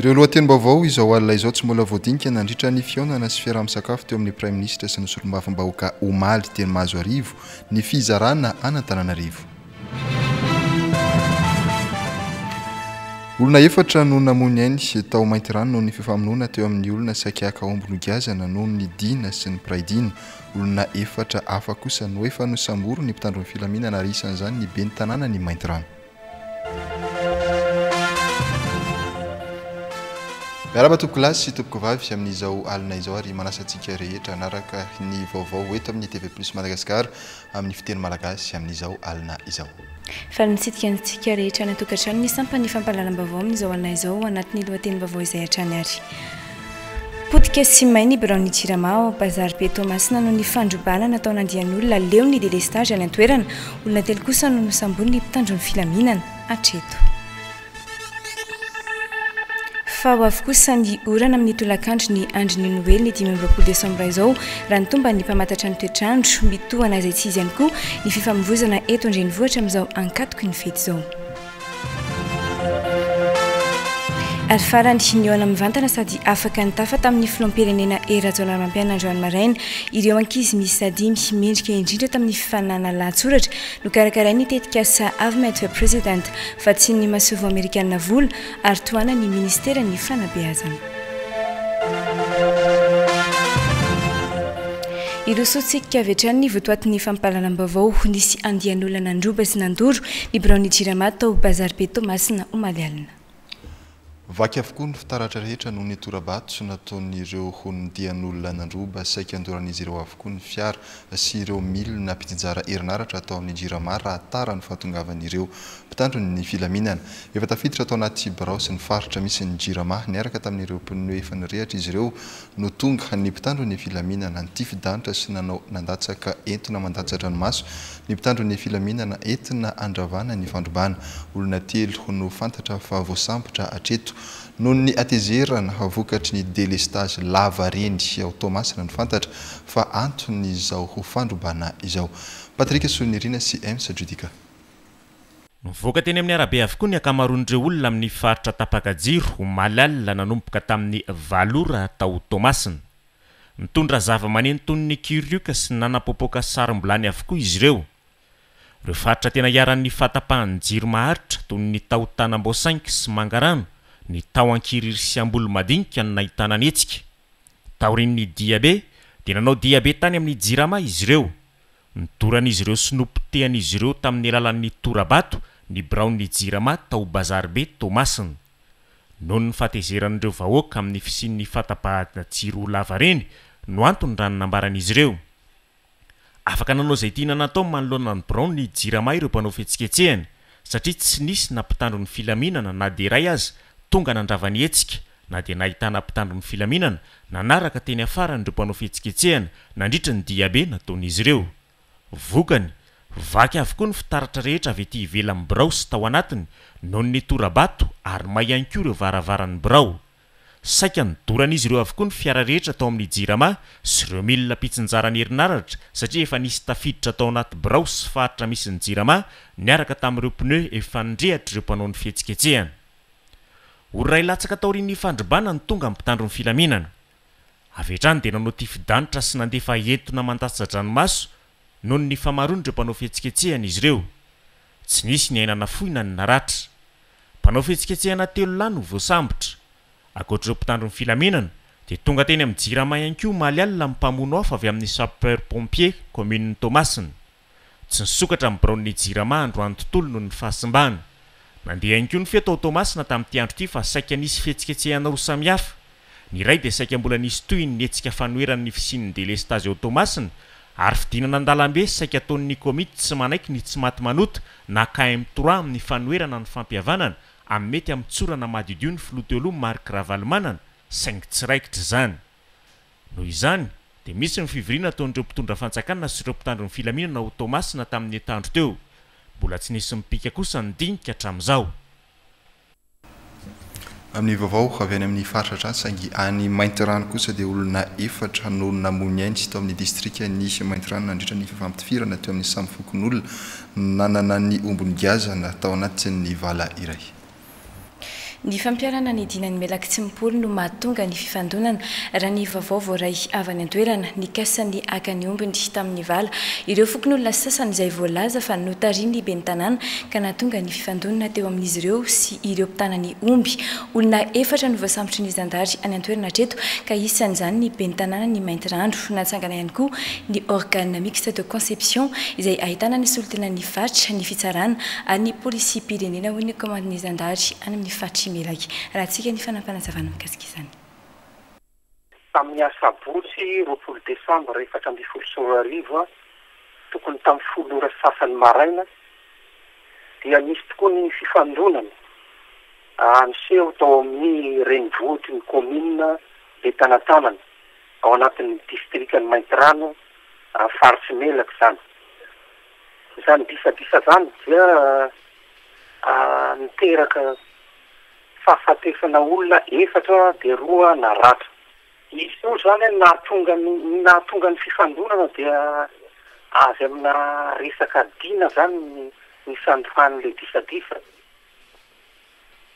Ireo lohatenim-baovao izao alina izao tsy mbola voadinika nandritra ny fihaonana sy fiaraha-misakafo teo amin'ny Praiminisitra sy ny solombavambahoaka omaly teny Mahazoarivo ny fizarana an'Antananarivo. Olona efatra no namoy ny ainy tao Maintirano noho ny fifamonoana teo amin'ny olona saika haka omby nogiazana noho ny dina sy ny mpiray dina. Olona efatra hafa kosa no efa nosamborin'ny mpitandro ny filaminana ary isan'izany ny ben'ny tanànan'i Maintirano. Miarahaba tompokolahy sy tompokovavy amin'izao alina izao ary manasa antsika rehetra hanaraka ny vaovao eto amin'ny TV Plus Madagascar amin'ny fiteny malagasy amin'izao alina izao. Faly mitsidika antsika rehetra any an-tokantrano ny sampan'ny fampahalalam-baovao amin'izao alina izao ao anatin'ny lohatenim-baovao izay hatrany ary. Potika sy may ny biraon'ny Jirama ao Bazary Be Toamasina noho ny fandrobana nataon'andian'olona leo ny délestage any an-toerana. Olona telo kosa no nosamborin'ny mpitandro ny filaminana hatreto. Fa ho avy kosa ny orana amin'ny tolakandro ny andron'ny Noely ny 25 desambra izao, raha ny tomban'ny mpamantatra ny toetr'andro. Mitohana izay tsy izy ihany koa ny fifamoivoizana eto an-drenivohitra amin'izao ankatoky ny fety izao. Ary farany, nihaona mivantana sady afaka nitafa tamin'ny filoham-pirenena Hery Rajaonarimampianina androany maraina ireo ankizy miisa dimy mendrika indrindra tamin'ny fifaninanana lahatsoratra nokarakarain'ny tetikasa Avmed for President Vatsian'ny masoivoho amerikanina vola ary tohanan'ny ministeran'ny fanabeazana. Hirosoantsika avy hatrany ny votoatin'ny fampahalalam-baovao. Nisy andian'olona nandroba sy nandoro ny biraon'ny Jirama tao Bazary Be Toamasina omaly alina. Vaky avokoa ny fitaratra rehetra noho ny tora-bato nataon'ireo andian'olona nandroba. Saika andoran'izy ireo avokoa ny fiara sy ireo milina mpitsinjara herinaratra tao amin'ny Jirama raha tara ny fahatongavan'ireo mpitandro ny filaminana. Efa tafiditra tao anaty birao sy ny faritra misy ny Jirama niaraka tamin'ireo pneu efa nirehatra izy ireo no tonga ny mpitandro ny filaminana. Nitifi-danitra sy nanao nandatsaka entona mandatsa-dranomaso ny mpitandro ny filaminana entina handravana ny fandrobana. Olona telo no fantatra fa voasambotra hatreto noho ny hatezerana vokatry ny delestazy lava reny ao Toamasina no fantatra fa anton'izao fandrobana izao. Patrick Solonirina sy Ems Judica. Nivoaka teny amin'ny arabe avokoa ny ankamaroan'ireo olona amin'ny faritra tapaka jiro omaly alina nanomboka tamin'ny valo ora tao Toamasina. Nitondra zavamaneno toy ny kirioka sy nanapoapoaka sarom-bilany avokoa izy ireo. Ireo faritra tena iharan'ny fahatapahan'ny jiro maharitra toy ny tao Tanambao Cinq sy Mangarano, ny tao Ankirihiry sy Ambolomadinika no nahitana ny hetsika. Taorian'ny diabe dia nanao diabe tany amin'ny Jirama izy ireo. Nodoran'izy ireo sy nopotehan'izy ireo tamin'ny alalan'ny tora-bato ny biraon'ny Jirama tao Bazary Be Toamasina. Noho ny fahatezeran'ireo vahoaka amin'ny fisian'ny fahatapahana jiro lavareny no antony raha ny nambaran'izy ireo. Afaka nanao izay tiana natao manoloana ny biraon'ny Jirama ireo mpanao fihetsiketsehana satria tsy nisy na mpitandro ny filaminana na dia iray aza tonga nandrava ny hetsika na dia nahitana mpitandro ny filaminana nanaraka teny afaran'ireo mpanao fihetsiketsehana nandritra ny diabe nataon'izy ireo. Vokany, vaky avokoa ny fitaratra rehetra avy ety ivelan'ny birao sy tao anatiny noho ny tora-bato ary may ihany koa ireo varavaran'ny birao. Saika nodoran'izy ireo avokoa ny fiara rehetra tao amin'ny Jirama sy ireo milina mpitsinjara ny herinaratra satria efa nisy tafiditra tao anaty birao sy faritra misy ny Jirama niaraka tamin'ireo pneus efa nirehatra ireo mpanao ny fihetsiketsehana. Ora iray latsaka taorian'ny fandrobana no tonga ny mpitandro ny filaminana. Avy hatrany dia nanao tifi-danitra sy nandefa entona mandatsa-dranomaso noho ny famaroan'ireo mpanao fihetsiketsehana izy ireo. Tsy nisy ny aina nafoy na ny naratra. Mpanao fihetsiketsehana telo lahy no voasambotra. Ankoatra ireo mpitandro ny filaminana dia tonga teny amin'ny Jirama ihany koa omaly alina ny mpamono afo avy amin'ny sapeur pompier kaominin'i Toamasina. Tsy nisokatra ny biraon'ny Jirama androany tontolo noho ny fahasimbana. Nandeha ihany koa ny feo tao Toamasina tamin'ity andro ity fa saika nisy fihetsiketsehana roa samihafa. Ny iray dia saika mbola nisy tohiny ny hetsika fanoherana ny fisian'ny delestazy ao Toamasina ary fidinana an-dalambe saika ataon'ny komity tsy manaiky ny tsy maty manota na KM trois amin'ny fanoherana ny fampihavanana amin'ny mety hamotsorana madiodio ny filoha teo aloha Marc Ravalomanana saingy tsy raikitra izany. Noho izany, dia misy ny fivoriana ataon'ireo mpitondra fanjakana sy ireo mpitandro ny filaminana ao Toamasina tamin'ny herinandro teo. Mbola tsy nisy mipika kosa ny dinika hatramin'izao. Amin'ny vaovao avy any amin'ny faritra hatrany saingy any Maintirano kosa dia olona efatra no namoy ny ainy tao amin'ny distrikan'i Maintirano nandritra ny fifampitifirana teo amin'ny samy fokonolona nanana ny omby nogiazana tao anatin'ny vala iray. Ny fampiharana ny dinan'i Melaky Tsimpolo no mahatonga ny fifandonana, raha ny vaovao voaray avy any an-toerana. Nikasa ny haka ny ombiny tamin'ny vala ireo fokonolona sasany izay voalaza fa notarihin'ny ben'ny tanàna ka nahatonga ny fifandonana teo amin'izy ireo sy ireo mpitana ny omby. Olona efatra no voasambotry ny zandary any an-toerana hatreto ka isan'izany ny ben'ny tanànan'i Maintirano. Natsangana ihany koa ny Organe mixte de conception izay ahitana ny solontenan'ny faritra, ny fitsarana ary ny polisim-pirenena hoy ny kaomandin'ny zandary any amin'ny faritr'i Melaky. Rahantsika ny fanapanazavana mikasika izany. Tamin'ny asabotsy 20 desambra 2014, tokony tamin'ny folo ora sy sasany maraina, dia nisy tokoa ny fifandonana niseho tao amin'ny renivohitry ny kaominina Betanatanana, ao anatin'ny distrikan'i Maintirano, faritr'i Melaky izany. Izany disadisa izany dia niteraka fahafatesana olona efatra dia roa naratra. Izy io izany ny nahatonga ny ny nahatonga ny fifandonana dia avy amina resaka dina izany ny nisandohan'ilay disadisa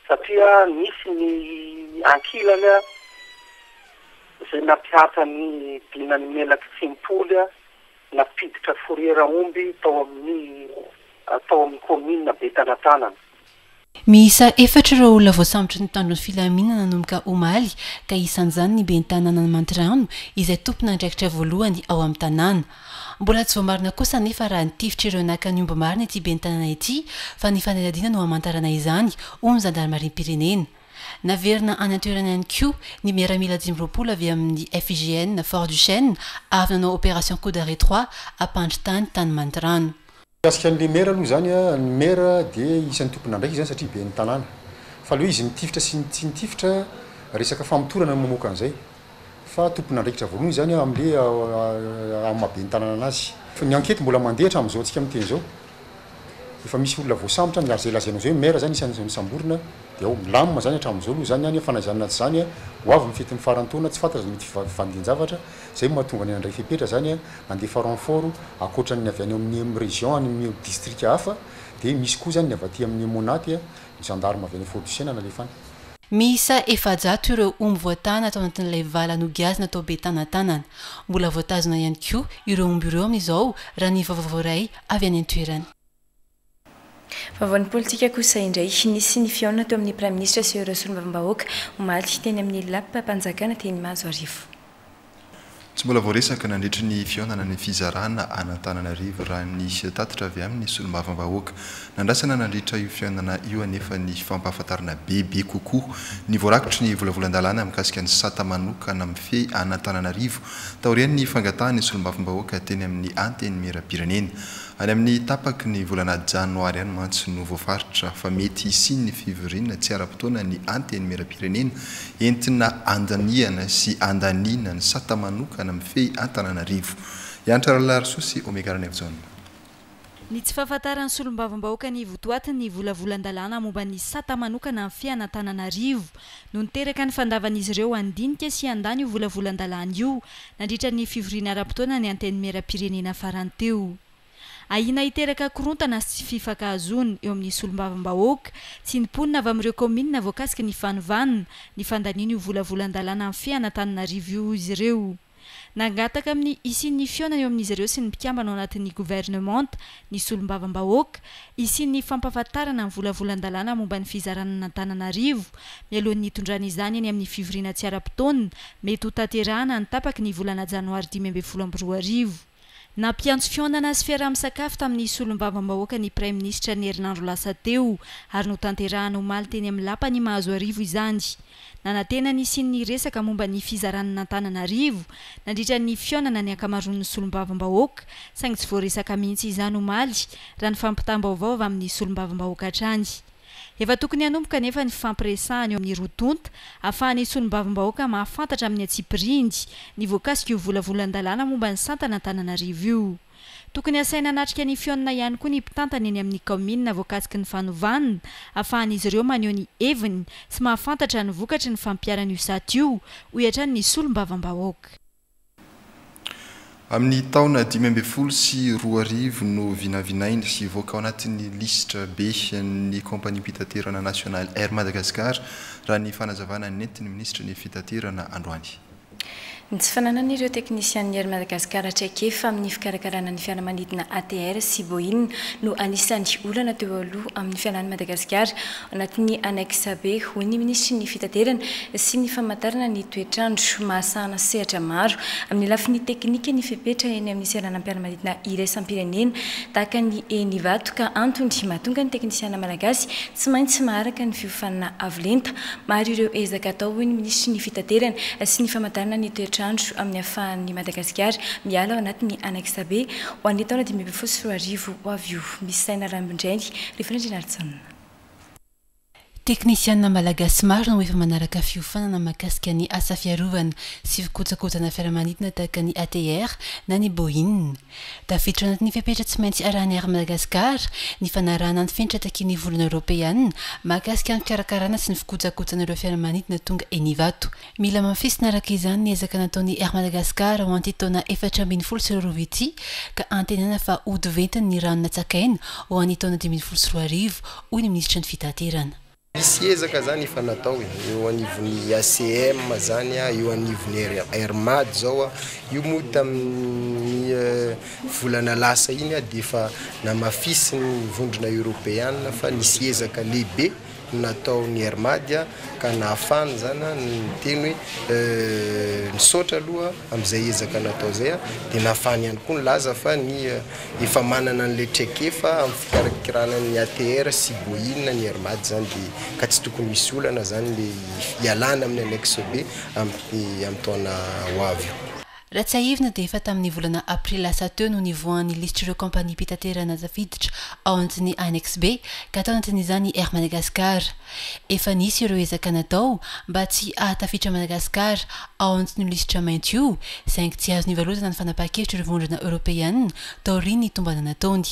satria nisy ny ankilany izay nampihatra ny dinan'i Melaky Tsimpoly nampiditra fourrière omby tao amin'ny tao amin'ny kaominina Betanatanana. Miisa efatra ireo olona voasambotry ny mpitandro ny filaminana nanomboka omaly ka isan'izany ny ben'ny tanànan'i Maintirano izay tompon'andraikitra voalohany ao amin'ny tanàna. Mbola tsy voamarina kosa anefa raha nitifitra ireo naka ny omby marina ity ben'ny tanàna ity fa ny fanadihadiana no hamantarana izany hoy ny zandarimariam-pirenena. Naverina any an-toerana ihany koa ny miaramila 25 avy amin'ny FIGN Fort Duchesne avy nanao opération coup d'arrêt trois hampandry tany tany Maintirano. Mikasika an'le maire aloha izany an, ny maire dia isan'ny tompon'andraikitra izany satria ben'ny tanàna. Fa le hoe izy nitifitra sy tsy nitifitra, resaka famotorana no mamoaka an'izay. Fa tompon'andraikitra voalohany izany amle amin'ny maha ben'ny tanàna anazy. Ny enquête mbola mandeha hatramin'izao antsika miteny izao. Efa misy olona voasambotra any ary izay lazainao izay hoe maire izany isan'ny nosamborina dia ao. Milamina izany hatramin'izao aloha izany any fa na izany na tsy izany ho avy ny fetin'ny faran'ny taona, tsy fantatra izay mety fivandian-javatra. Izay no mahatonga ny nandray fepetra izany an, nandefa renfort ankoatra ny avy any amin'ny région any amin'ny distrika hafa dia misy koa izany ny avy aty amin'ny Emmo-Nat, ny gendarme avy any Fort du Chêne nalefa any. Miisa 400 ireo omby voatana tao anatin'ilay vala nogiazina tao Betanatanana. Mbola voatazona ihany koa ireo omby ireo amin'izao raha ny vaovao voaray avy any an-toerana. Vaovaon'ny politika kosa indray, nisy ny fihaonana teo amin'ny Praiminisitra sy ireo solombavambahoaka omaly teny amin'ny Lapam-panjakana teny Mahazoarivo. Tsy mbola voaresaka nandritry ny fihaonana ny fizarana an'Antananarivo raha ny tatitra avy amin'ny solombavambahoaka. Nandrasana nandritra io fihaonana io anefa ny fampahafantarana bebe kokoa ny voarakitry ny volavolan-dalàna mikasika ny sata manokana mifehy an'Antananarivo taorian'ny fangatahan'ny solombavambahoaka teny amin'ny Antenimierampirenena. Any amin'ny tapaky ny volana janoary any mantsy no voafaritra fa mety hisian'ny fivoriana tsy ara-potoana ny Antenimierampirenena entina andanihana sy andaniana ny sata manokana mifehy Antananarivo. Hiantra Ralalarisoa sy Omega Ranaivojaona. Ny tsy fahafantaran'ny solombavambahoaka ny votoatin'ny volavolan-dalàna momba ny sata manokana mifehy an'Antananarivo no niteraka ny fandavan'izy ireo handinika sy handany io volavolan-dalàna io nandritra ny fivoriana ara-potoana ny Antenimierampirenena farany teo. Ahiana hiteraka korontana sy tsy fifankahazoana eo amin'ny solombavambahoaka sy ny mponina avy amin'ireo kaominina voakasiky ny fanovana ny fandaniana io volavolan-dalàna mifehy an'Antananarivo io izy ireo. Nangataka amin'ny hisian'ny fihaonana eo amin'izy ireo sy ny mpikambana ao anatin'ny governemanta ny solombavambahoaka, hisian'ny fampahafantarana ny volavolan-dalàna momba ny fizarana an'Antananarivo, mialohan'ny hitondrana izany eny amin'ny fivoriana tsy ara-potoana mety hotanterahana ny tapaky ny volana janoary 2015. Nampiantso fihaonana sy fiaraha-misakafo tamin'ny solombavambahoaka ny Praiminisitra ny herinandro lasa teo ary notanterahana omaly teny amin'ny Lapan'i Mahazoarivo izany. Nanantena ny hisian'ny resaka momba ny fizarana an'Antananarivo nandritra ny fihaonana ny ankamaroan'ny solombavambahoaka saingy tsy voaresaka mihitsy izany omaly raha ny fampitam-baovao avy amin'ny solombavambahoaka hatrany. Efa tokony hanomboka anefa ny fifampiresahana eo amin'ny roa tonta ahafahan'ny solombavambahoaka mahafantatra amin'ny antsipiriany ny voakasika io volavolan-dalàna momba ny santan'Antananarivo io. Tokony hasaina hanatrika ny fihaonana ihany koa ny mpitantana eny amin'ny kaominina voakasiky ny fanovana ahafahan'izy ireo maneho ny heviny sy mahafantatra ny vokatry ny fampiharana io sata io, hoy hatrany ny solombavambahoaka. Amin'ny taona 2015 no vinavinainy hivoaka ao anatin'ny lisitra B ny kaompaniam-pitaterana nasionaly Air Madagascar, raha ny fanazavana nentin'ny minisitry ny Fitaterana androany. Ny tsy fananan'ireo teknisianin'ny Air Madagascar traikefa amin'ny fikarakarana ny fiaramanidina ATR sy Boeing no anisan'ny olana teo aloha amin'ny fialan'i Madagasikara ao anatin'ny Annexe B, hoy ny minisitry ny Fitaterana sy ny famantarana ny toetr'andro. Mahasahana sehatra maro amin'ny lafiny teknika ny fepetra eny amin'ny seranam-piaramanidina iraisam-pirenena tahaka ny eny Ivato ka antony mahatonga ny teknisiana malagasy tsy maintsy maharaka ny fiofanana avo lenta. Maro ireo ezaka atao, hoy ny minisitry ny Fitaterana sy ny famantarana ny toetr'andro amin'ny ahafahan'i Madagasikara miala ao anatin'ny Annexe B ho an'ny taona 2015 ho avy io. Misy saina Rambindrainy, Rivo Randrianarijaona. Teknisianina malagasy maro no efa manaraka fiofanana mahakasika ny asa fiarovana sy fikojakojana fiaramanidina tahaka ny ATR na ny Boeing. Tafiditra ao anatin'ny fepetra tsy maintsy arahin'ny Air Madagascar ny fanarahana ny fenitra takian'ny Vondrona Eoropeana mahakasika ny fikarakarana sy ny fikojakojana ireo fiaramanidina tonga eny Ivato. Mila hamafisina araka izany ny ezaka nataon'ny Air Madagascar ho an'ity taona 2014 ity ka antenaina fa hody ventiny ny rano natsakaina ho an'ny taona 2015, hoy ny minisitry ny Fitaterana. Misy ezaka zany efa natao e, eo anivon'ny ACM zany, eo anivon'ny Air Mad zao, io moa tamin'ny volana lasa iny dia efa namafisin'ny vondrona eoropeana fa nisy ezaka lehibe nataon'ny Air Mad ka nahafahany zany niteny hoe nisaotra aloha amin'izay ezaka natao izay dia nahafahany ihany koa nilaza fa ny efa manana an'ilay traikefa amin'ny fikirakirana ny ATR sy Boeing ny Air Mad zany dia ka tsy tokony misy olana zany le hialana amin'ny annexe B amin'ny taona ho avy io. Raha tsiahivina dia efa tamin'ny volana aprily lasa teo no nivoahan'ny lisitr'ireo kaompaniam-pitaterana tafiditra ao anatin'ny annexe B ka tao anatin'izany Air Madagascar. Efa nisy ireo ezaka natao mba tsy hahatafiditra Madagasikara ao anatin'io lisitra mainty io, saingy tsy azo nivalozana ny fanapahan-kevitr'ireo vondrona eoropeanina taorian'ny tombana nataony.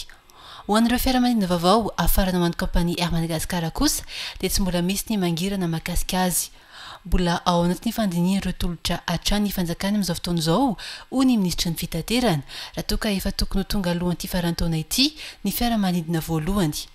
Ho an'ireo fiaramanidina vaovao hafarana ho an'ny kaompania Air Madagascar kosa dia tsy mbola misy ny mangirana mahakasika azy. Mbola ao anatin'ny fandinihana ireo tolotra hatrany ny fanjakana amin'izao fotoana izao, hoy ny minisitry ny Fitaterana, raha toa ka efa tokony ho tonga alohan'ity faran'ny taona ity ny fiaramanidina voalohany.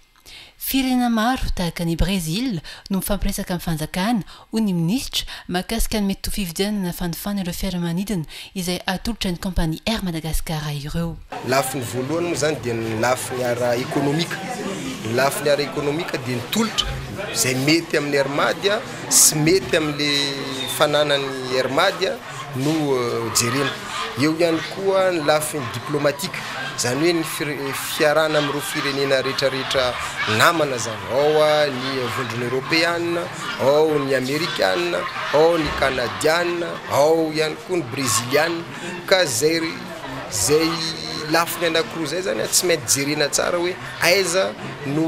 Firenena maro, tahaka an'i Brezila, no mifampiresaka amin'ny fanjakana, hoy ny minisitra, mahakasika ny mety ho fividianana na fanofana ireo fiaramanidina izay atolotra ny kaompania Air Madagascar ireo. Lafiny voalohany moa izany dia ny lafiny ara-ekonomika. Ny lafiny ara-ekonomika dia ny tolotra izay mety amin'ny Air Mad sy mety amin'ilay fananan'ny Air Mad no jerena. Eo ihany koa ny lafiny diplomatique, izany hoe ny fiarahana amin'ireo firenena rehetrarehetra namana izany, ao ny vondrona eoropeana, ao ny amerikana, ao ny kanadiana, ao ihany koa ny breziliana, ka izay izay lafiny anankiroa izay izany tsy maintsy jerena tsara hoe aiza no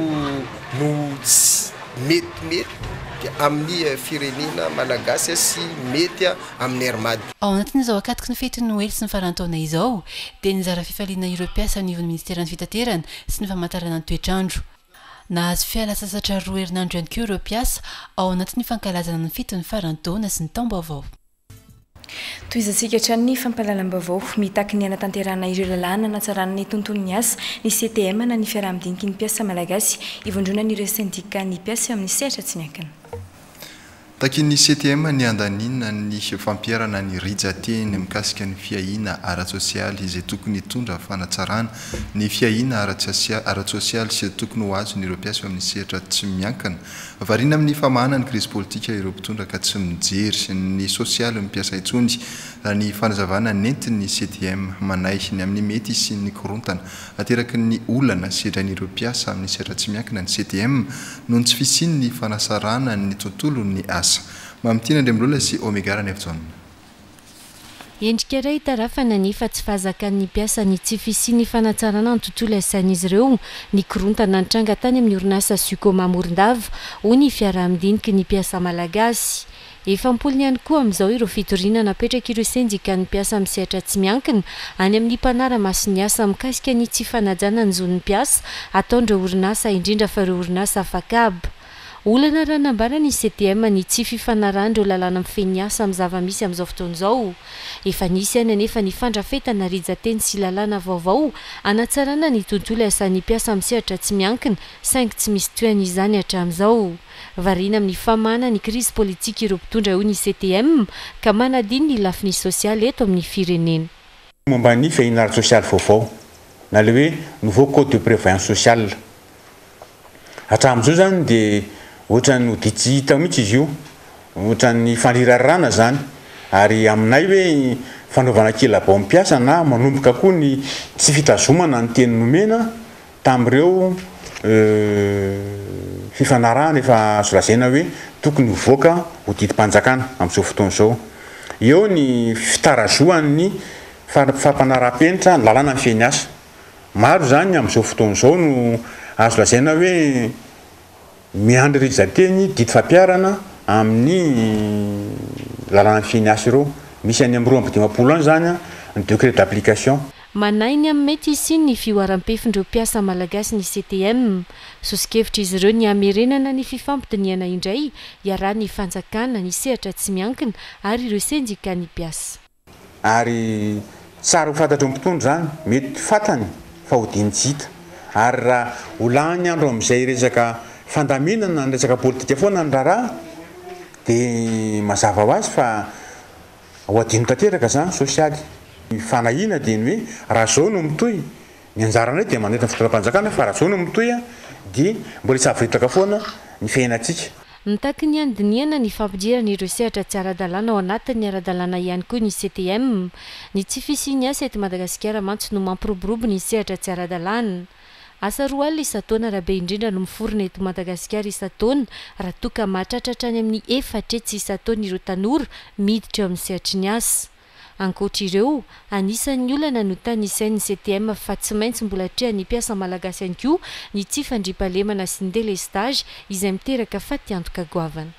no tsy metimety amin'ny firenena malagasy sy mety amin'ny Air Mad. Ao anatin'izao ankatoky ny fetin'ny Noely sy ny faran'ny taona izao, dia nizara fifaliana ireo mpiasa anivon'ny Ministeran'ny Fitaterana sy ny Famantarana ny Toetr'andro. Nahazo fialan-tsasatra roa herinandro ihany koa ireo mpiasa ao anatin'ny fankalazana ny fetin'ny faran'ny taona sy ny taom-baovao. Tohizantsika hatrany ny fampahalalam-baovao. Mitaky ny hanatanterahana ireo lalàna hanatsarana ny tontolon'ny asa, ny CTM na ny fiaraha-midiniky ny mpiasa malagasy, ivondronan'ireo sendikan'ny mpiasa eo amin'ny sehatra tsy miankina. Takian'ny CTM ny handaniana ny fampiharana ny rijan-teny mikasika ny fiahiana ara-tsosialy izay tokony hitondra fanatsarana ny fiahiana ara-tsosialy sy tokony ho azon'ireo mpiasa eo amin'ny sehatra tsy miankina. Variana amin'ny famahana ny krizy politika ireo mpitondra ka tsy mijery ny sosialin'ny mpiasa intsony, raha ny fanazavana nentin'ny CTM. Manahy ny amin'ny mety hisian'ny korontana Ateraky ny olana sedrain'ireo mpiasa amin'ny sehatra tsy miankina ny CTM noho ny tsy fisian'ny fanasarahana ny tontolon'ny asa. Mamitiana Andriamilola sy Omega Ranaivojaona. Endrika iray itarafana nefa tsy fahazakan'ny mpiasa ny tsy fisian'ny fanatsarana ny tontolo iasan'izy ireo ny korontana nitranga tany amin'ny orinasa Sucoma Morondava, hoy ny fiaraha-midiniky ny mpiasa malagasy. Efa am-polony ihany koa amin'izao ireo fitoriana napetrak'ireo sendikan'ny mpiasa amin'ny sehatra tsy miankina any amin'ny mpanara-maso ny asa mikasika ny tsy fanajana ny zon'ny mpiasa ataon'ireo orinasa indrindra fa ireo orinasa afak'haba. Olana raha nambara ny CTM ny tsy fifanarahan'ireo lalàna mifehy ny asa amin'ny zava-misy amin'izao fotoana izao. Efa nisy ihany anefa ny fandrafetana rijan-teny sy lalàna vaovao hanatsarana ny tontolo iasan'ny mpiasa amin'ny sehatra tsy miankina saingy tsy misy tohiny izany hatramin'izao. Variana amin'ny famahana ny krizy politika ireo mpitondra hoy ny CTM ka manadino ny lafiny sosialy eto amin'ny firenena. Momba ny fiahiana ara-tsosialy vaovao na ilay hoe nouveau code de prévoyance sociale. Hatramin'izao izany dia ohatran'ny ho tsy hita mihitsy izy io, ohatran'ny fandrirarana izany, ary aminay hoe fanaovana kilabao mpiasa na manomboka koa ny tsy fitazomana ny teny nomena tamin'ireo fifanarahana efa azo lazaina hoe tokony hivoaka ho didim-panjakana amin'izao fotoana izao. Eo ny fitarazohan'ny fampanaraham-penitra ny lalàna mifehy ny asa. Maro izany amin'izao fotoana izao no azo lazaina hoe miandry rijan-teny didy fampiharana amin'ny lalàna mifehy ny asa ireo. Misy any amin'ny 52 any izany ny décret d'application. Manahy ny amin'ny mety hisian'ny fihoaram-pefin'ireo mpiasa malagasy ny CTM. Soso-kevitra izy ireo ny hamerenana ny fifampidinihana indray iarahan'ny fanjakana, ny sehatra tsy miankina ary ireo sendikan'ny mpiasa. Ary tsara ho fantatry ny mpitondra izany, mety fantany fa hodiany tsy hita. Ary raha ho lany andro amin'izay resaka fandaminana ny resaka politika foana ny raharaha dia mazava ho azy fa ho adino tanteraka izany sosialy. Ny fanahiana dia ny hoe raha izao no mitohy, Ny anjaranay dia manentana ny fitondram-panjakana fa raha zao no mitohy dia mbola hisavoritaka foana ny fiainantsika. Mitaky ny handinihana ny fampidirana ireo sehatra tsy ara-dalàna ao anatin'ny ara-dalàna ihany koa ny CTM. Ny tsy fisian'ny asa eto Madagasikara mantsy no mampiroborobo ny sehatra tsy ara-dalàna. Asa 20 isan-taona raha be indrindra no miforona eto Madagasikara isan-taona raha toa ka mahatratra hatrany amin'ny 400 isan-taona ireo tanora miditra eo amin'ny sehatry ny asa. Ankoatra ireo, anisan'ny olana notanisain'ny CTM fa tsy maintsy mbola atrehan'ny mpiasa malagasy ihany koa ny tsy fandriampahalemana sy ny delestazy izay miteraka fatiantoka goavana.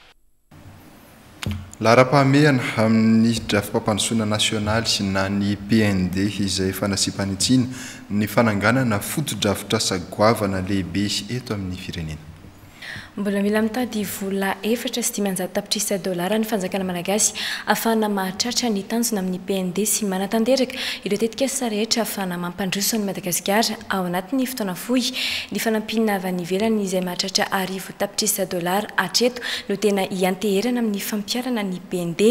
Laharam-pahamehana amin'ny drafi-pampandrosoana nasionaly na ny PND izay fanasiam-panitsiana ny fananganana fotodrafitrasa goavana lehibe eto amin'ny firenena. Mbola mila mitady vola 504 tapitrisa dolara ny fanjakana malagasy ahafahana mahatratra ny tanjona amin'ny PND sy manatanteraka ireo tetikasa rehetra ahafahana mampandroso an'i Madagasikara ao anatin'ny fotoana fohy. Ny fanampiana avy any ivelany izay mahatratra 1000 tapitrisa dolara hatreto no tena ianteherana amin'ny fampiharana ny PND.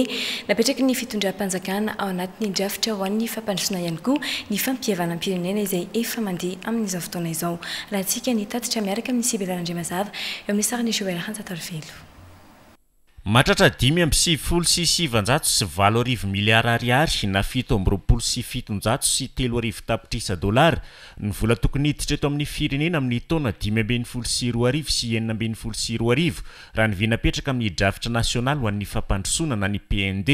Napetraky ny fitondram-panjakana ao anatin'ny drafitra ho an'ny fampandrosoana ihany koa ny fampihavanam-pirenena izay efa mandeha amin'izao fotoana izao. Rahantsika ny tatitra miaraka amin'i Sibela Randriamazava eo amin'ny sarin'i Joël Ranjatarivelo. Mahatratra 1995 miliara ariary na 727 tapitrisa dolara ny vola tokony hiditra eto amin'ny firenena amin'ny taona 2015 sy 2016 raha ny vina apetraka amin'ny drafitra nasionaly ho an'ny fampandrosoana na ny PND.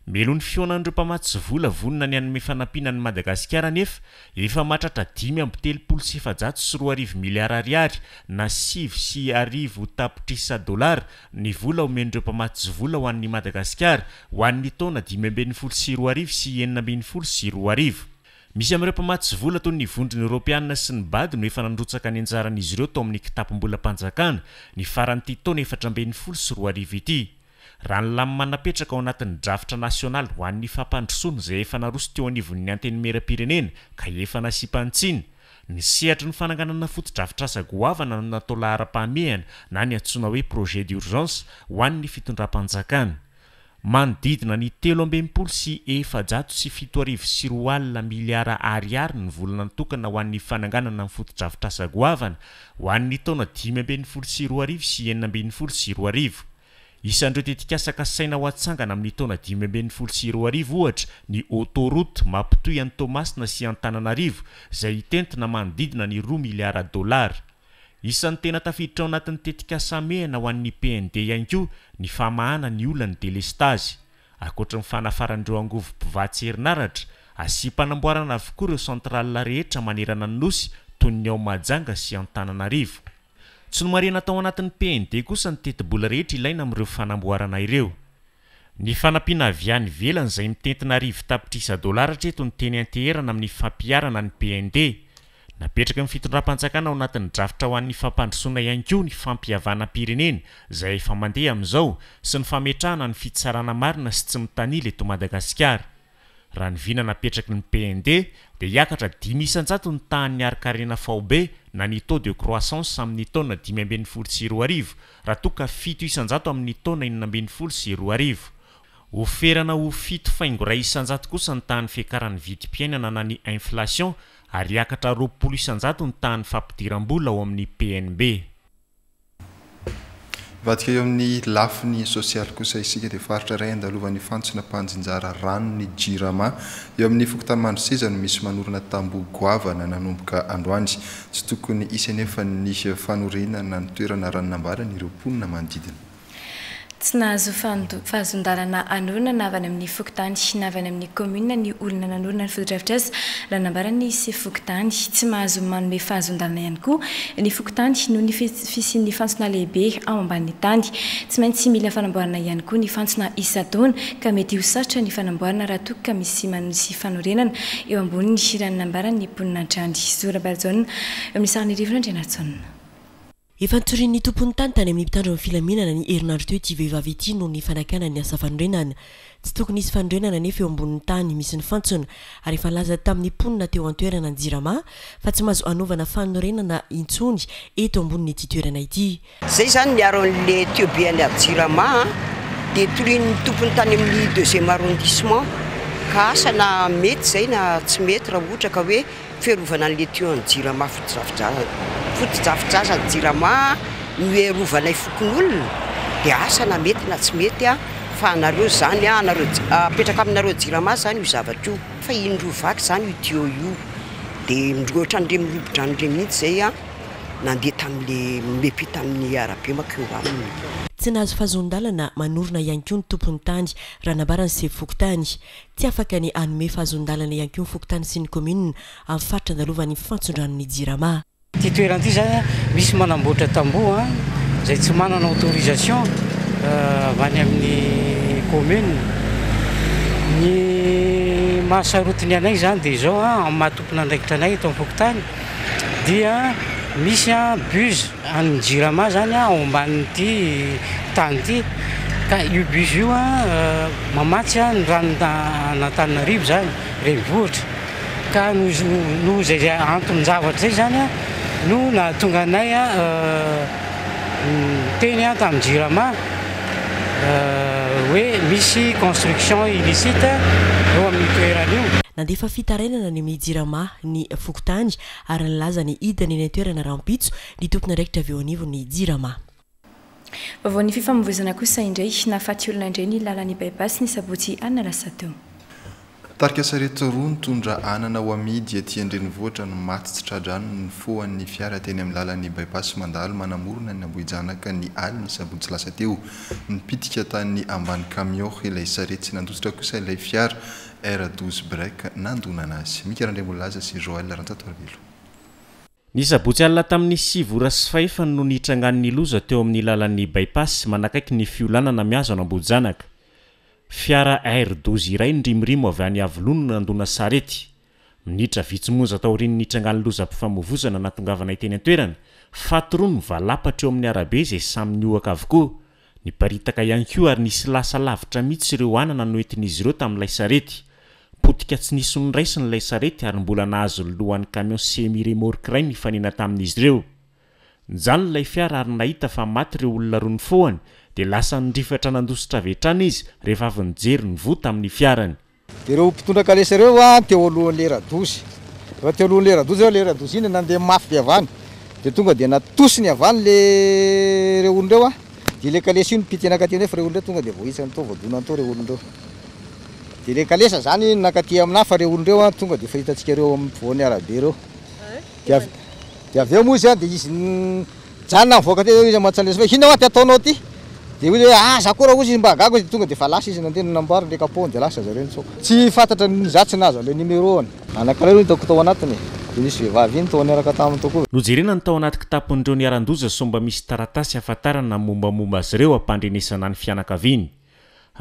Mialoha ny fihaonan'ireo mpamatsy vola vonona ny hanome fanampiana an'i Madagasikara anefa, efa mahatratra 235 miliara ariary na 1009 tapitrisa dolara ny vola omen'ireo mpamatsy vola ho an'i Madagasikara ho an'ny taona 2015 sy 2016. Misy amin'ireo mpamatsy vola toy ny Vondrona Eoropeana sy ny BAD no efa nandrotsaka ny anjaran'izy ireo tao amin'ny kitapom-bolam-panjakana ny faran'ity taona 2014 ity. Raha ny lamina napetraka ao anatin'ny drafitra nasionaly ho an'ny fampandrosoana izay efa naroso teo anivon'ny Antenimierampirenena ka efa nasiam-panitsiana, ny sehatry ny fananganana fotodrafitrasa goavana no natao laharam-pahamehana na ny antsoina hoe projet d'urgence ho an'ny fitondram-panjakana. Manodidina ny 263 200 miliara ariary ny vola natokana ho an'ny fananganana ny fotodrafitrasa goavana ho an'ny taona 2015 sy 2016. Isan'ireo tetikasa kasaina ho atsangana amin'ny taona 2015 ohatra ny autoroute mampitohy an'i Toamasina sy Antananarivo izay hitentina manodidina ny 2 miliara dolara. Isan'ny tena tafiditra ao anatin'ny tetikasa hamehana ho an'ny PND ihany koa ny famahana ny olan'ny delestazy. Ankoatry ny fanafaran'ireo angovo mpivatsy herinaratra, asiam-panamboarana avokoa ireo centrales rehetra manerana ny Nosy toy ny ao Mahajanga sy Antananarivo. Tsy nomarihana tao anatin'ny PND kosa ny tetibola rehetra ilaina amin'ireo fanamboarana ireo. Ny fanampiana avy any ivelany izay mitentina 100 tapitrisa dolara hatreto no teny an-teherana amin'ny fampiharana ny PND. Napetraky ny fitondram-panjakana ao anatin'ny drafitra ho an'ny fampandrosoana ihany koa ny fampihavanam-pirenena izay efa mandeha amin'izao sy ny fametrahana ny fitsarana marina sy tsy mitanila eto Madagasikara. Raha ny vina napetraky ny PND dia hiakatra 5% ny tahan'ny harin-karena faobe na ny taux de croissance amin'ny taona 2015 raha toa ka 7% amin'ny taona 2016. Ho ferana ho 7,1% kosa ny tahan'ny fiakaran'ny vidim-piainana na ny inflation ary hiakatra 20% ny tahan'ny fampidiram-bola ao amin'ny PNB. Mivadika eo amin'ny lafiny sosialy kosa isika dia faritra iray andalovan'ny fantsona mpanjinjara rano ny Jirama. Eo amin'ny fokontany Mandroseza no misy manorina tamboho goavana nanomboka androany. Tsy tokony hisy anefa ny fanorenana ny toerana raha ny nambaran'ireo mponina manodidina. Tsy nahazo fahazoan-dalana hanorina na avy any amin'ny fokontany na avy any amin'ny kaominina ny olona nanorina ny fotodrafitrasa raha nambaran'ny sefo fokontany. Tsy mahazo manome fahazoan-dalana ihany koa ny fokontany noho ny fisian'ny fantsona lehibe ao ambanin'ny tany. Tsy maintsy mila fanamboarana ihany koa ny fantsona isan-taona ka mety ho sarotra ny fanamboarana raha toa ka misy manisy fanorenana eo amboniny raha ny nambaran'ny mponina hatrany. Zo Rabarijaona eo amin'ny sarin'i Rivo Randrianarintsaona. Efa nitorian'ny tompon'ny tany tany amin'ny mpitandro ny filaminana ny herinandro teo ity vehivavy ity noho ny fanakana ny asa fanorenana. Tsy tokony hisy fanorenana anefa eo ambonin'ny tany misy ny fantsona ary efa nilaza tamin'ny mponina teo an-toerana ny Jirama fa tsy mahazo hanaovana fanorenana intsony eto ambonin'ity toerana ity. Zay zany miaro an'le tuyau be any Jirama a, de torian'ny tompony tany amin'ny deuxième arrondissement ka asa na mety zay na tsy mety raha ohatra ka hoe fiarovana an'le tuyau an'ny Jirama fotodrafitrasa ny Jirama no iarovanay fokonolona dia asa na mety na tsy mety a, fa anareo zany a, anareo apetraka aminareo Jirama zany io zavatra io fa indroa vaky zany io tuyau io dia indroa ohatran'ireny mirobo-drano ireny mihitsy zay a nandeha tamin'le miampita amin'ny arabe mankeo aminy. Tsy nahazo fahazoan-dalana manorina ihany koa ny tompon'ny tany raha nambaran'ny sefo fokontany. Tsy afaka ny hanome fahazoan-dalana ihany koa ny fokontany sy ny kaominina amin'ny faritra andalovan'ny fantson-dranon'ny Jirama. Ity toerana ity izany misy manamboatra tamboho izay tsy manana autorisation avy any amin'ny commune. Ny mahasarotiny anay izany dia izao, amin'ny maha tompon'andraikitra anay eto amin'ny fokontany dia misy buse an'ny Jirama izany ao ambanin'ity tany ity ka io buse io mamatsy ny ranon'Antananarivo izany, renivohitra. Ka noho izay anton-javatra izay izany no nahatonga anay niteny tamin'ny Jirama hoe misy construction illicite eo amin'io toerana io. Nandefa fitarainana any amin'ny Jirama ny fokontany ary nilaza ny hidina eny an-toerana rahampitso ny tompon'andraikitra avy eo anivon'ny Jirama. Vaovaon'ny fifamoivoizana kosa indray, nahafaty olona indray ny lalan'ny By-pass ny sabotsy alina lasa teo. Tarika sarety roa nitondra anana ho amidy aty an-drenivohitra no maty tsy tra-drano nifohan'ny fiara teny amin'ny lalan'ny By-pass mandalo manamorona ny Ambohijanaka ny alin'ny sabotsy lasa teo. Nipitika tany ambany camion ilay sarety, nandositra kosa ilay fiara R 12 break nandonana azy. Mika Randriambololaza sy Joël Rantsatoarivelo. Ny sabotsy alina tamin'ny 9h20 no nitrangan'ny loza teo amin'ny lalan'ny By-pass manakaiky ny fiolanana mihazo an'Ambohijanaka. Fiara R 12 iray nirimorimo avy any Iavoloha no nandona sarety. Minitra vitsy monja taorian'ny nitrangan'ny lozam-pifamoivozana nahatongavanay teny an-toerana, faty roa nivalapatra eo amin'ny arabe izay samy nihoaka avokoa. Niparitaka ihany koa ary nisy lasa lavitra mihitsy ireo anana noentin'izy ireo tamin'ilay sarety. Potika tsy nisy noraisiny ilay sarety ary mbola nahazo ny lohan'ny camion semi-remorque iray nifanena tamin'izy ireo. Nijanona ilay fiara ary nahita fa maty ireo olona roa nifohany dia lasa nirifatra nandositra avy hatrany izy rehefa avy nijery ny voa tamin'ny fiarany. Dia ireo mpitondra kalesa ireo an, teo alohan'ilay radosy. Rehefa teo alohan'ilay radosy ireo, ilay radosy iny nandeha mafy be avy any. Dia tonga dia natosiny avy any ilay ireo olona ireo an. Dia ilay kalesa io nipitika nankaty nefa ireo olona ireo tonga dia voahitsany tao, voadonany tao ireo olona ireo. Dia ilay kalesa izany nankaty aminahy fa ireo olona ireo an, tonga dia efa hitantsika ireo amin'ny ampovoan'ny arabe ireo. Dia avy dia avy eo moa izy an, dia izy nijanona nivoaka teo izy mantsy hoe inona hoa ty ataonao ty? Dia hoy izy hoe ah za koa raha hozy izy mba gaga izy tonga dia efa lasa izy nandeha nanamboariny le capot dia lasa zareo nitsoaka. Tsy fantatra ny za tsy nahazo an'ilay numéro-ny. Anankiray no hitako tao anatiny e. Dia nisy vehivavy iny tao niaraka taminy tao koa. Nojerena ny tao anaty kitapon'ireo niharan-doza sao mba misy taratasy ahafantarana ny mombamomba azy ireo hampandrenesana ny fianakaviany.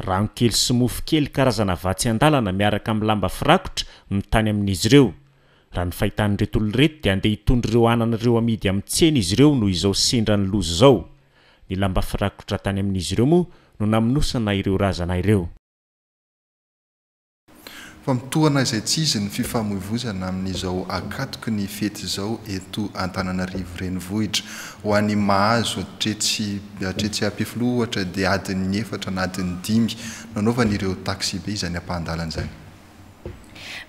Rano kely sy mofo kely karazana vatsy an-dalana miaraka amin'ny lamba firakotra no tany amin'izy ireo. Raha ny fahitan'ireto olona ireto dia handeha hitondra ireo anana ireo amidy amin'ny tsena izy ireo noho izao sendra ny loza izao. Ny lamba firakotra tany amin'izy ireo moa no namonosana ireo razana ireo. Fa mitohana izay tsy izy ny fifamoivoizana amin'izao ankatoky ny fety izao eto Antananarivo Renivohitra. Ho an'i Mahazo hatretsy hatretsy Ampefiloha ohatra dia adin'ny efatra na adin'ny dimy no anaovan'ireo taxibe izany ampahan-dalana izany.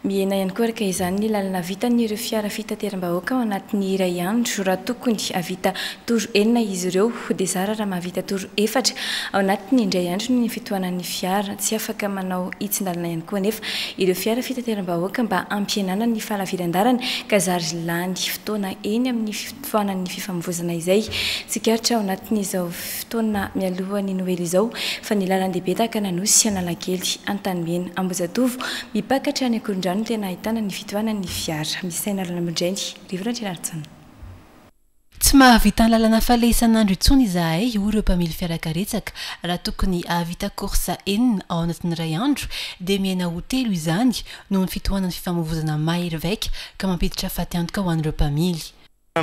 Mihena ihany koa araka izany ny lalana vitan'ireo fiara fitateram-bahoaka ao anatin'ny iray andro. Raha tokony hahavita tour enina izy ireo dia zara raha mahavita tour efatra ao anatin'ny indray andro noho ny fitohanan'ny fiara. Tsy afaka manao hitsin-dalana ihany koa anefa ireo fiara fitateram-bahoaka mba hampihenana ny fahalaviran-dalana ka zary lany fotoana eny amin'ny fitohanan'ny fifamoivoizana izay tsikaritra ao anatin'izao fotoana mialoha ny Noely izao fa ny lalan-dehibe tahaka an'Anosy, Analakely, Antanimena, Ambohijatovo, mipaka hatrany Ankorondrano no tena ahitana ny fitohanan'ny fiara. Misaina Ralambodrainy, Rivo Randrianarison. Tsy mahavita ny lalana faleha isan'andro intsony izahay, hoy ireo mpamily fiarakaretsaka. Raha tokony hahavita course enina ao anatin'ny iray andro dia mihena ho telo izany noho ny fitohanan'ny fifamoivozana mahery vaika ka mampiditra fatiantoka ho an'ireo mpamily.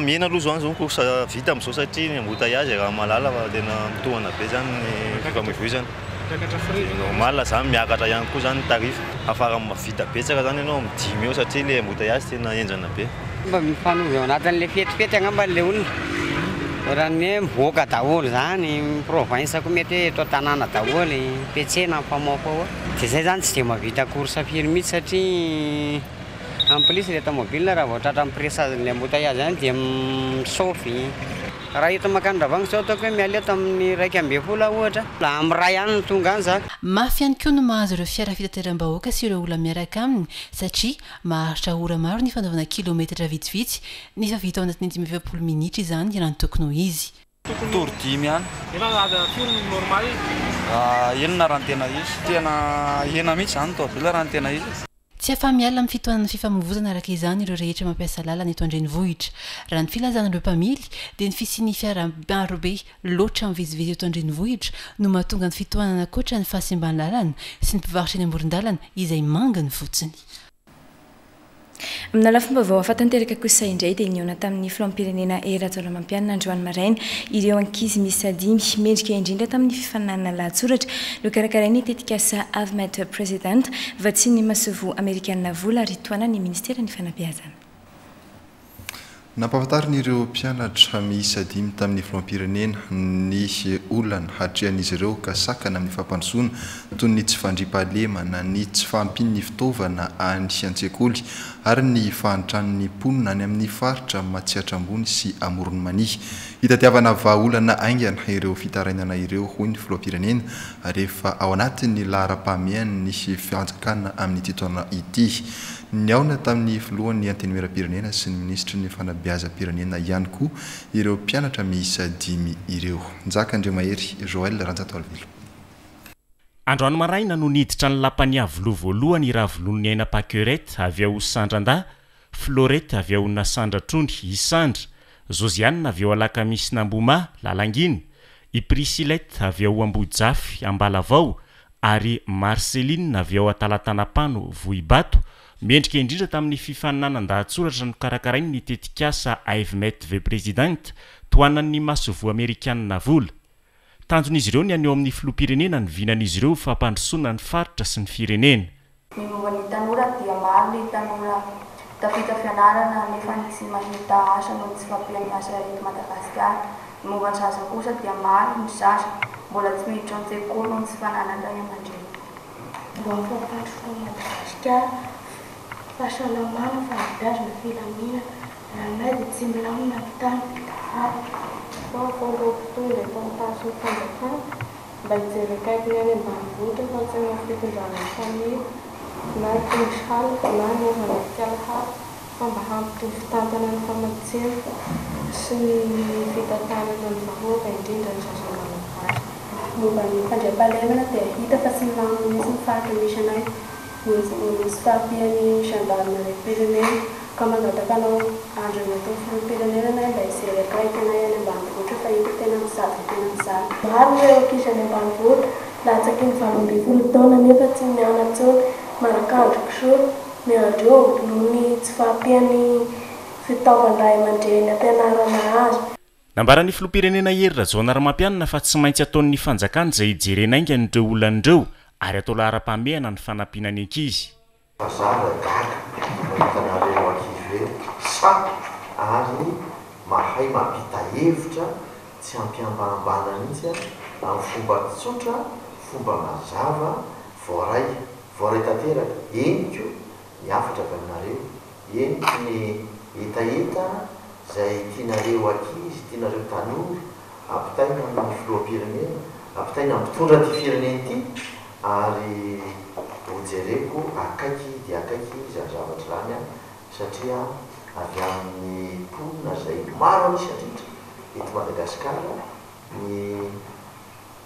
Mihena aloha zao ny course vita amin'izao satria ny embouteillages raha mahalala fa tena mitohana be zany ny fifamoivoizana. Dia normal zany miakatra ihany koa zany ny tarif. Afara mahavita betsaka zany ianao amin'ny dimy eo satria le embouteillages tena henjana be. Mba mifanovy ao anatin'le fetifety angamba le olona. Ohatran'ny hoe mivoaka daholo zany, ny province koa mety hoe eto an-tanàna daholo, mpiantsena mifamoafaoa. Dia zay zany tsy dia mahavita course firy mihitsy satria En plus le tomobile raha vao tratran'ny pressage-n'le embouteillage any dia misaofy. Raha eto mankany Ravagny zao ataoko hoe miala eto amin'ny 11 aho ohatra, amin'ny iray any no tonga any za. Mafy ihany koa no mahazo ireo fiara fitateram-bahoaka sy ireo olona miaraka aminy satria maharitra ora maro ny fanaovana kilometatra vitsivitsy nefa vita ao anatin'ny 45 minitra izany raha ny tokony ho izy. Tour dimy ihany. Nefa firy ny normal? Enina raha ny tena izy. Tena enina mihitsy izany ny tomobil raha ny tena izy. Tsy afa-miala amin'ny fitohanan'ny fifamoivozana araka izany ireo rehetra mampiasa lalana eto an-drenivohitra. Raha ny filazan'ireo mpamily dia ny fisian'ny fiara marobe loatra mivezivezy eto an-drenivohitra no mahatonga ny fitohanana ankoatra ny fahasimban'ny lalana sy ny mpivarotra eny amoron-dalana izay manginy fotsiny. Amina lafim-baovao hafa tanteraka kosa indray dia nihaona tamin'ny filoham-pirenena Hery Rajaonarimampianina androany maraina ireo ankizy miisa dimy mendrika indrindra tamin'ny fifaninanana lahatsoratra nokarakarain'ny tetikasa I've Met a President vatsian'ny masoivoho amerikanina vola ary tohanan'ny ministeran'ny fanabeazana. Nampahafantariny ireo mpianatra miisa dimy tamin'ny filoham-pirenena ny olana hatrehan'izy ireo ka sakana amin'ny fampandrosoana toy ny tsy fandriampahalemana, ny tsy fahampian'ny fitaovana any an-tsekoly ary ny fahantran'ny mponina any amin'ny faritra Matsiatra Ambony sy Amoron'i Mania. Hitadiavana vahaolana haingana ireo fitarainana ireo, hoy ny filoham-pirenena, rehefa ao anatin'ny laharam-pahamehan'ny fanjakana amin'ity taona ity. Nihaona tamin'ny filohan'ny Antenimierampirenena sy ny minisitry ny Fanabeazam-pirenena ihany koa ireo mpianatra miisa dimy ireo. Njaka Andriamahery Joël Ranjatoalivelo. Androany maraina no niditra ny lapan'i Iavoloha voalohany i Ravololoniaina Paquerette avy ao Sandrandahy, Florette avy ao Nasandratrony, Isandra, Josiane avy ao Alakamisin'Ambohimaha, Lalangina, i Priscillette avy ao Ambohijafy, Ambalavao, ary Marcelline avy ao Atalatanapano, Vohibato, mendrika indrindra tamin'ny fifaninanan-dahatsoratra nokarakarainy ny tetikasa I've Met the President, tohanan'ny masoivoho amerikanina vola. Tanjon'izy ireo ny haneho amin'ny filoham-pirenena ny vinan'izy ireo ho fampandrosoana ny faritra sy ny firenena. Ny momba ny tanora dia maro ny tanora tafita fianarana nefa ny tsy mahita asa noho ny tsy fahampian'ny asa eto Madagasikara. Ny momba ny zaza kosa dia maro ny zaza mbola tsy miditra an-tsekoly noho ny tsy fananany ray aman-dreny. Mba ho fampandrosoana an'i Madagasikara, fahasalamana, fanabeazana, filaminana. Raha ny ahy dia tsy milamina ny tany. Ary vaovao ireo mpitondra eto amin'ny faritry ny fanjakana mba hijery akaiky ny any ambanivohitra fa tsy hanao fitondrana mifanila na tondro hala na hanaovana kala hafa fa mba hampitovy tantana ny famatsiana sy ny fitantanana ny vahoaka indrindra ny zaza malagasy. Momba ny fandriampahalemana dia hita fa tsy milamina mihitsy ny faritra misy anay noho ny tsy fahampian'ny gendarmeriam-pirenena ka mangataka anao Andriamatoa Filoham-pirenena anay mba hijery akaiky anay any ambanivohitra fa hita tena mijaly dia tena mijaly. Maro ireo ankizy any ambanivohitra latsaky ny 18 taona nefa tsy mianatra intsony, manakandro kisoa, miandry omby noho ny tsy fahampian'ny fitaovan-dray aman-dreny ampianarana azy. Nambaran'ny filoham-pirenena Hery Rajaonarimampianina fa tsy maintsy ataon'ny fanjakana izay hijerena haingana ireo olana ireo ary atao laharam-pahamehana ny fanampiana ny ankizy. Fa za ra gaga mahita anareo ankizy hoe sahy ary mahay mampita hevitra tsy ampiambahambana mihitsy amin'ny fomba tsotra, fomba mazava, voaray, voaray tanteraka, henoko ny hafatra avy aminareo, henoko ny hetaheta izay tianareo ankizy, tianareo tanora ampitaina amin'ny filoham-pirenena, ampitaina amin'ny mpitondra ity firenena ity ary hojereko akaiky dia akaiky izany zavatra izany satria avy amin'ny mponina izay maro an'isa indrindra eto Madagasikara ny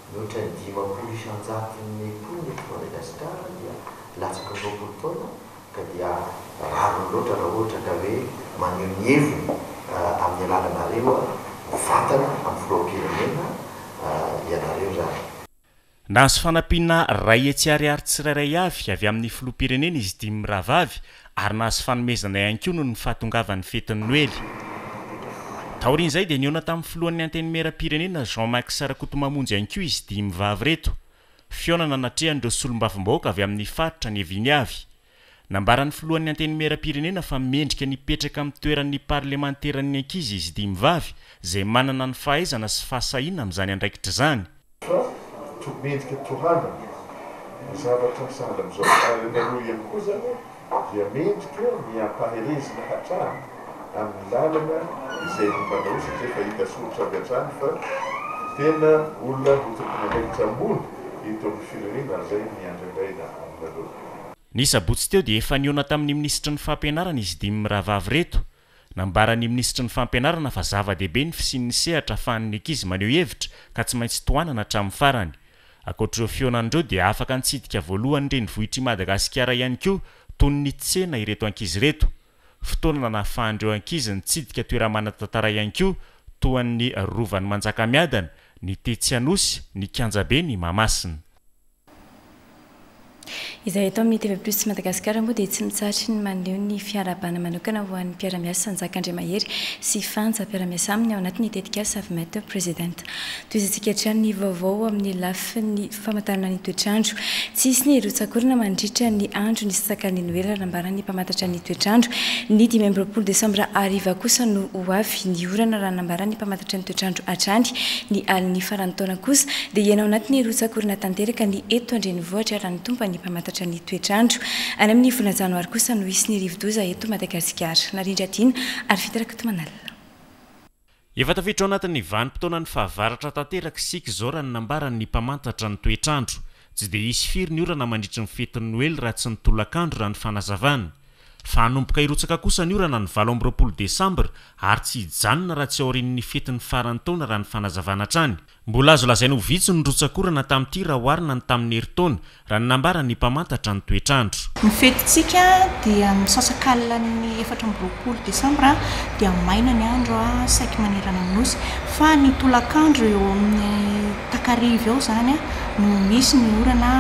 Mihoatra ny 50 isan-jaton'ny mponina eto Madagasikara dia latsaky ny 20 taona ka dia rariny loatra raha ohatra ka hoe maneho ny heviny amin'ny alalanareo mivantana amin'ny filoham-pirenena ianareo izany. Nahazo fanampiana 100 ariary tsirairay avy avy amin'ny filoham-pirenena izy dimy mirahavavy ary nahazo fanomezana ihany koa noho ny fahatongavan'ny fetin'ny Noely. Taorian'izay dia nihaona tamin'ny filohan'ny Antenimierampirenena Jean Max Rakotomamonjy ihany koa izy dimy vavy ireto. Fihaonana natrehan'ireo solombavambahoaka avy amin'ny faritra niaviany avy. Nambaran'ny filohan'ny Antenimierampirenena fa mendrika ny hipetraka amin'ny toeran'ny parlemanteran'ny ankizy izy dimy vavy izay manana ny fahaizana sy fahasahiana amin'izany andraikitra izany. Fa to mendrika tohanana ny zavatra sahala amin'izao. Ary ianareo ihany koa izany dia mendrika ny hampaherezina hatrany amin'ny lalana izay nombanareo satria efa hita soritra avy hatrany fa tena olona ho tompon'andraikitra ambony eto amin'ny firenena ary izay ny andrandraina aminareo. Ny sabotsy teo dia efa nihaona tamin'ny minisitry ny fampianarana izy dimy mirahavavy ireto. Nambaran'ny minisitry ny fampianarana fa zava-dehibe ny fisian'ny sehatra ahafahan'ny ankizy maneho hevitra ka tsy maintsy tohanana hatramin'ny farany. Ankoatr'ireo fihaonana ireo dia afaka nitsidika voalohany ny renivohitr'i Madagasikara ihany koa toy ny tsena ireto ankizy ireto. Fotoana nahafahan'ireo ankizy nitsidika toera-manan-tantara ihany koa toa ny Rovan'i Manjakamiadana, ny tetsy Anosy, ny kianjaben'i Mahamasina. Izay eto amin'ny TV Plus Madagascar moa dia tsy mitsahatry ny maneho ny fiarahabana manokana ho an'ny mpiara-miasa Njaka Andriamahery sy Fanja mpiara-miasa aminy ao anatin'ny tetikasa Avmet President. Tohizantsika hatrany ny vaovao amin'ny lafiny famantarana ny toetr'andro. Tsy hisy ny rotsak'orana mandritra ny andro ny sakan'ny Noely raha nambaran'ny mpamantatra ny toetr'andro. Ny 25 desambra hariva kosa no ho avy ny orana raha nambaran'ny mpamantatra ny toetr'andro hatrany. Ny alin'ny faran'ny taona kosa dia hiaina ao anatin'ny rotsak'orana tanteraka ny eto an-drenivohitra raha ny tomban'ny mpamantatra ny toetr'andro. Any amin'ny volana janoary kosa no hisy ny rivodoza eto Madagasikara. Narindra Dina ary Vita Rakotomanalina. Efa tafiditra ao anatin'ny vanim-potoanan'ny fahavaratra tanteraka isika izao raha ny nambaran'ny mpamantatra ny toetr'andro. Tsy dia hisy firy ny orana mandritry ny fetin'ny Noely raha tsy ny tolakandro raha ny fanazavana. Fa hanomboka hirotsaka kosa ny orana ny 28 desambra ary tsy hijanona raha tsy aorian'ny fetin'ny faran'ny taona raha ny fanazavana hatrany. Mbola azo lazaina ho vitsy ny rotsak'orana tamin'ity raha oharina ny tamin'ny herintaona, raha ny nambaran'ny mpamantatra ny toetr'andro. Ny fetintsika dia ny misasakalin'ny 24 desambra dia maina ny andro saiky manerana ny Nosy fa ny tolakandro eo amin'ny takariva eo izany no misy ny orana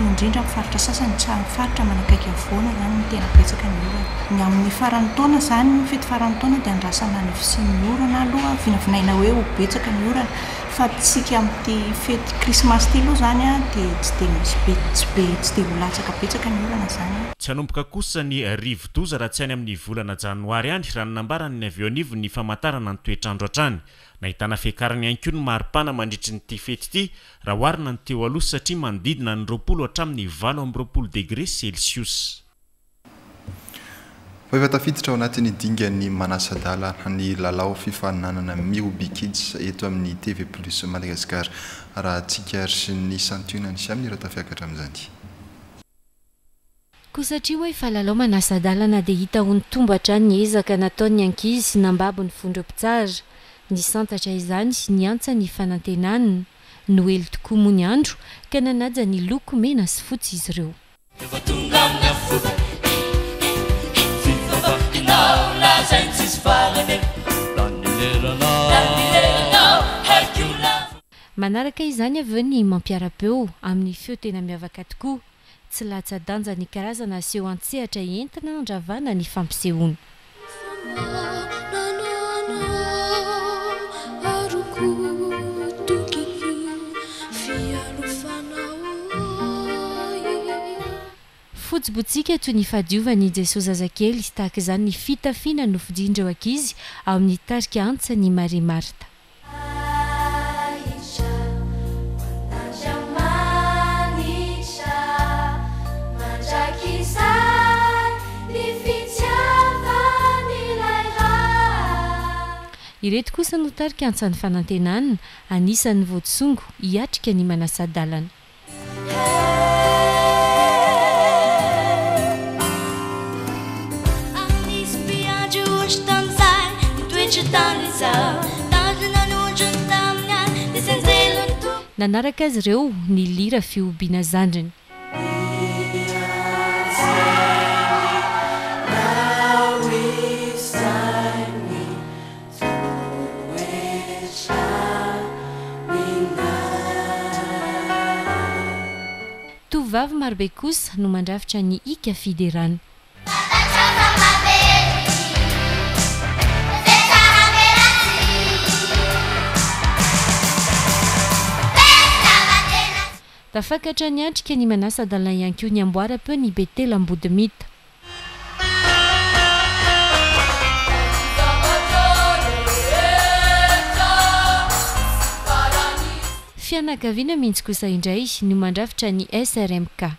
indrindra amin'ny faritra sasany, tsy amin'ny faritra manakaiky havoana izany no tena betsaka ny orana. Ny amin'ny faran'ny taona izany, ny fety faran'ny taona dia andrasana ny fisian'ny orana aloha, vinavinaina hoe ho betsaka ny orana fa tsika amin'ity fety krismasy ity aloha izany dia tsy dia misy be, tsy be, tsy dia ho latsaka betsaka ny orana izany. Tsy hanomboka kosa ny rivodoza raha tsy any amin'ny volana janoary any, raha ny nambaran'ny avy eo anivon'ny famantarana ny toetr'andro hatrany. Nahitana fiakarany ihany koa ny maripana mandritry ny ity fety ity raha oharina ny teo aloha satria manodidina ny 20 hatramin'ny 28 degre celsius. Fa efa tafiditra ao anatin'ny dingan'ny manasa-dalana ny lalao fifaninanana Mihoby Kids eto amin'ny TV Plus Madagascar raha tsikaritra ny santionany sy amin'ireo tafiakatra amin'izany. Koa satria hoy fa lalao manasa-dalana dia hita ho nitombo hatrany ny ezaka nataon'ny ankizy nambabo ny fondro mpitsara. Nisantatra izany, niantsa ny fanantenana. Noely tokoa moa ny andro ka nanaja ny loko mena sy fotsy izy ireo. Efa tonga amin'ny afobe Fivavakinao lazainy tsisy farany e Lany leranao Lany leranao haiko lava Manaraka izany avy eo ny mampiara-peo amin'ny feo tena miavaka tokoa. Tsy latsa-danja ny karazana seho an-tsehatra entina handravana ny fampisehoana. Fotsy botsiaka toy ny fahadiovan'i Jesoa zazakely, tahaka izany ny fitafiana nofidin'ireo ankizy ao amin'ny tarika Antsan'i Maria Marta. Ireto kosa no tarika Antsan'ny Fanantenana, anisan'ny voatsongo hiatrika ny manasa-dalana. Nanaraka azy ireo ny lira fihobiana zandriny. Tovovavy marobe kosa no mandrafitra ny hika fiderana. Tafakatra niatrika ny manasa-dalana ihany koa ny amboaram-peon'ny Betela Ambodimita. Fianakaviana mihitsy kosa indray no mandrafitra ny SRMK.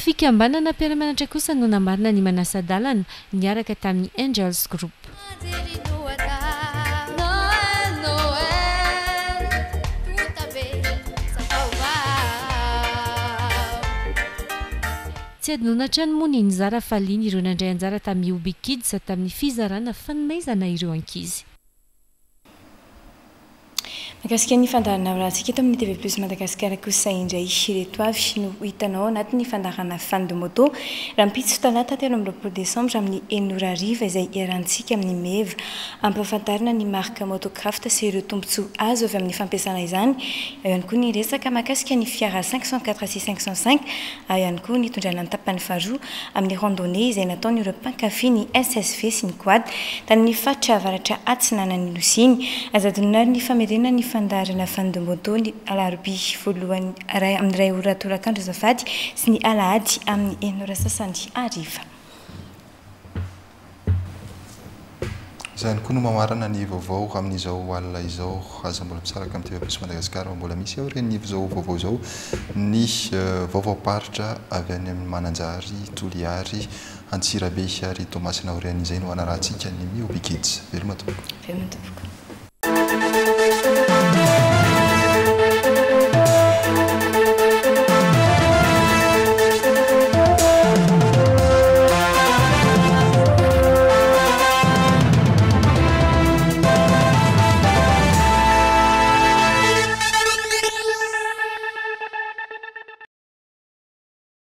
Fikambanana mpiara-mianatra kosa no namarina ny manasa-dalana niaraka tamin'ny Angels Group. Tsy adinoina hatrany moa ny nizara fahaliana ireo nandray anjara tamin'ny Ubi Kids tamin'ny fizarana fanomezana ireo ankizy. Mahakasika ny fandaharana horahantsika eto amin'ny TV Plus Madagascar kosa indray ireto avy no ho hitanao ao anatin'ny fandaharana Fan de Moto rahampitso talata 23 desambra amin'ny enina ora hariva izay iarahantsika amin'ny Meva ampahafantarina ny marque Motocraft sy ireo tombontsoa azo avy amin'ny fampiasana izany eo ihany koa ny resaka mahakasika ny fiara 504 sy 505 Ao ihany koa ny nitondrana ny tapany faharoa amin'ny randonnée izay nataon'ireo mpankafy ny SSV sy ny Quad tany amin'ny faritra avaratra atsinanan'ny Nosy iny. Aza adinoina ary ny famerenana ny fandaharana Fandomboto ny alarobia voalohany amin'ny iray ora tolakandro azafady sy ny alahady amin'ny enina ora sasany hariva. Izay ihany koa no mamarana ny vaovao amin'izao alina izao. Aza mbola misaraka amin'ny TV Plus Madagascar fa mbola misy aorian'izao vaovao izao ny vaovaom-paritra avy any amin'ny Mananjary, Toliary, Antsirabe ary Toamasina. Aorian'izay no hanarahantsika ny Mihoby Kids. Veloma tompoko. Veloma tompoko.